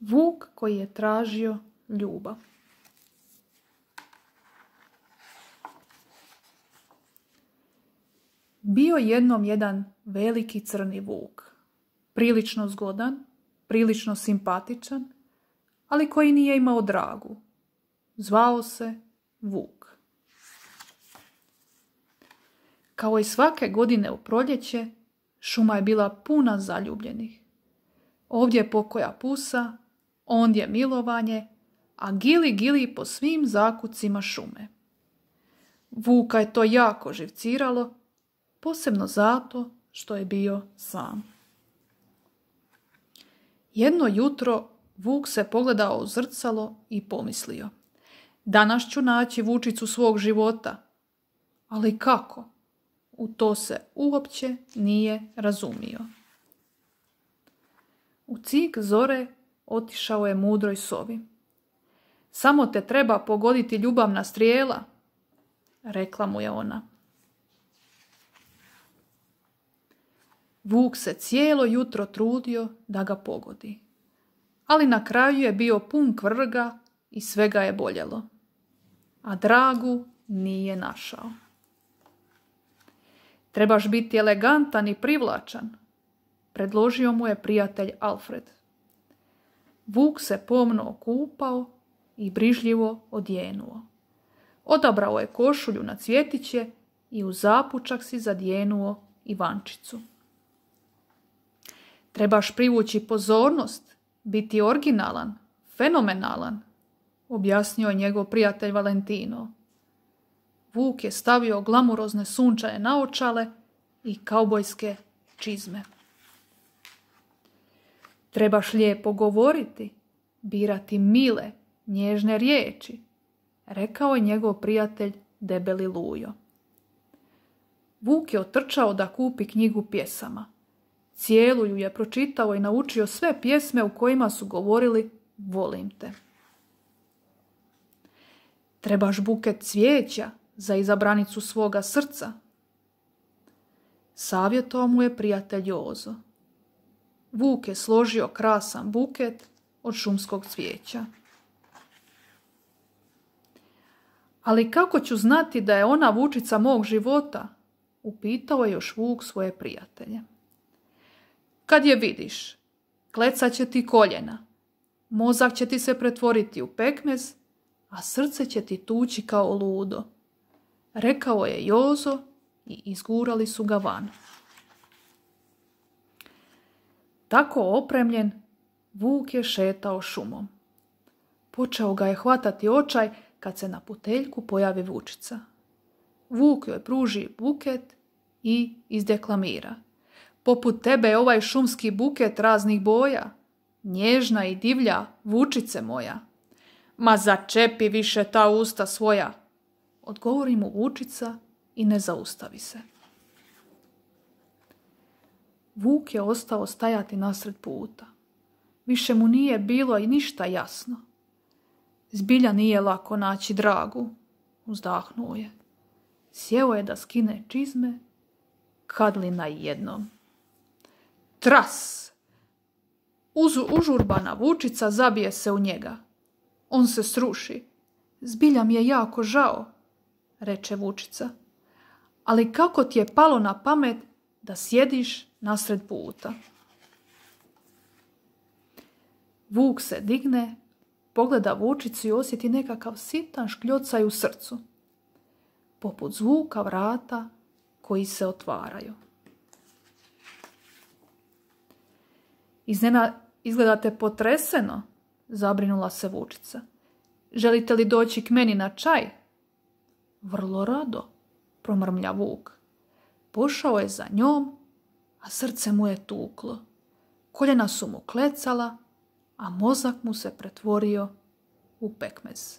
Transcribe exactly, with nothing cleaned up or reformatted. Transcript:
Vuk koji je tražio ljubav. Bio jednom jedan veliki crni vuk, prilično zgodan, prilično simpatičan, ali koji nije imao dragu. Zvao se Vuk. Kao i svake godine u proljeće, šuma je bila puna zaljubljenih. Ovdje je pokoja pusa, ondje milovanje, a gili gili po svim zakucima šume. Vuka je to jako živciralo, posebno zato što je bio sam. Jedno jutro Vuk se pogledao u zrcalo i pomislio: danas ću naći vučicu svog života. Ali kako? U to se uopće nije razumio. U cik zore otišao je mudroj sovi. Samo te treba pogoditi ljubavna strijela, rekla mu je ona. Vuk se cijelo jutro trudio da ga pogodi, ali na kraju je bio pun kvrga i svega je boljelo, a dragu nije našao. Trebaš biti elegantan i privlačan, predložio mu je prijatelj Alfred. Vuk se pomno okupao i brižljivo odjenuo. Odabrao je košulju na cvjetiće i u zapučak si zadjenuo Ivančicu. Trebaš privući pozornost, biti originalan, fenomenalan, objasnio je njegov prijatelj Valentino. Vuk je stavio glamurozne sunčane naočale i kaubojske čizme. Trebaš lijepo govoriti, birati mile, nježne riječi, rekao je njegov prijatelj debeli Lujo. Vuk je otrčao da kupi knjigu pjesama. Cijelu ju je pročitao i naučio sve pjesme u kojima su govorili volim te. Trebaš buket cvijeća za izabranicu svoga srca, savjetovao mu je prijatelj Jozo. Vuk je složio krasan buket od šumskog cvijeća. Ali kako ću znati da je ona vučica mog života? Upitao je još Vuk svoje prijatelje. Kad je vidiš, klecat će ti koljena, mozak će ti se pretvoriti u pekmez, a srce će ti tući kao ludo, rekao je Jozo i izgurali su ga van. Tako opremljen, Vuk je šetao šumom. Počeo ga je hvatati očaj kad se na puteljku pojavi vučica. Vuk joj pruži buket i izdeklamira: poput tebe je ovaj šumski buket raznih boja, nježna i divlja vučice moja. Ma začepi više ta usta svoja, odgovori mu vučica i ne zaustavi se. Vuk je ostao stajati nasred puta. Više mu nije bilo i ništa jasno. Zbilja nije lako naći dragu, uzdahnuo je. Sjeo je da skine čizme, kad li najednom. Tras! Uz, užurbana vučica zabije se u njega. On se sruši. Zbilja mi je jako žao, reče vučica. Ali kako ti je palo na pamet da sjediš nasred puta? Vuk se digne, pogleda vučicu i osjeti nekakav sitan škljocaj u srcu, poput zvuka vrata koji se otvaraju. Iznena izgledate potreseno, zabrinula se vučica. Želite li doći k meni na čaj? Vrlo rado, promrmlja Vuk. Pošao je za njom, a srce mu je tuklo. Koljena su mu klecala, a mozak mu se pretvorio u pekmez.